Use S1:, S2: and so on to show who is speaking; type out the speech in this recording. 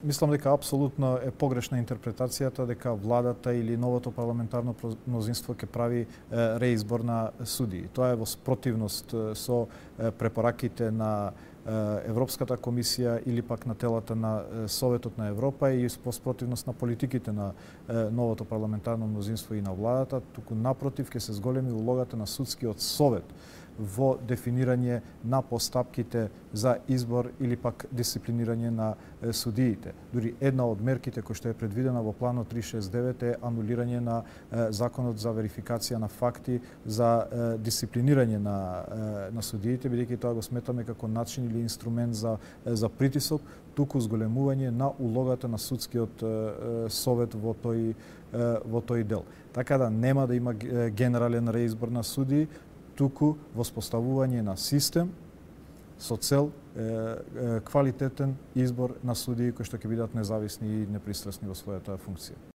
S1: Мислам дека апсолутно е погрешна интерпретацијата дека владата или новото парламентарно мнозинство ќе прави реизбор на судии. Тоа е во спротивност со препораките на Европската комисија или пак на телата на Советот на Европа и во спротивност на политиките на новото парламентарно мнозинство и на владата, туку напротив ќе се зголеми улогата на судскиот совет во дефинирање на постапките за избор или пак дисциплинирање на судиите. Дури една од мерките која што е предвидена во планот 369 е анулирање на законот за верификација на факти за дисциплинирање на судиите, бидејќи тоа го сметаме како начин или инструмент за притисок, туку зголемување на улогата на судскиот совет во тој дел. Така да нема да има генерален реизбор на судии, туку воспоставување на систем со цел квалитетен избор на судии кои што ќе бидат независни и непристрасни во својата функција.